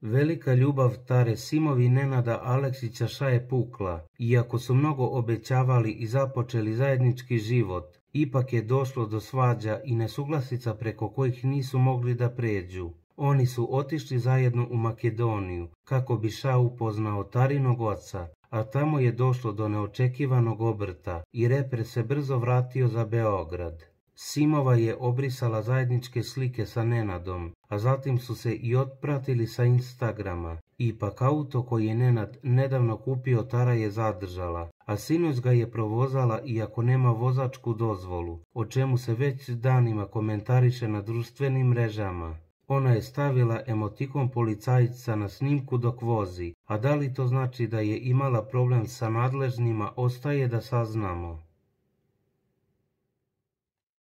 Velika ljubav Tare Simovi i Nenada Aleksića je pukla. Iako su mnogo obećavali i započeli zajednički život, ipak je došlo do svađa i nesuglasica preko kojih nisu mogli da pređu. Oni su otišli zajedno u Makedoniju kako bi upoznao Tarinog oca, a tamo je došlo do neočekivanog obrta i reper se brzo vratio za Beograd. Simova je obrisala zajedničke slike sa Nenadom, a zatim su se i otpratili sa Instagrama. Ipak auto koji je Nenad nedavno kupio Tara je zadržala, a sinoć ga je provozala iako nema vozačku dozvolu, o čemu se već danima komentariše na društvenim mrežama. Ona je stavila emotikon policajca na snimku dok vozi, a da li to znači da je imala problem sa nadležnima ostaje da saznamo.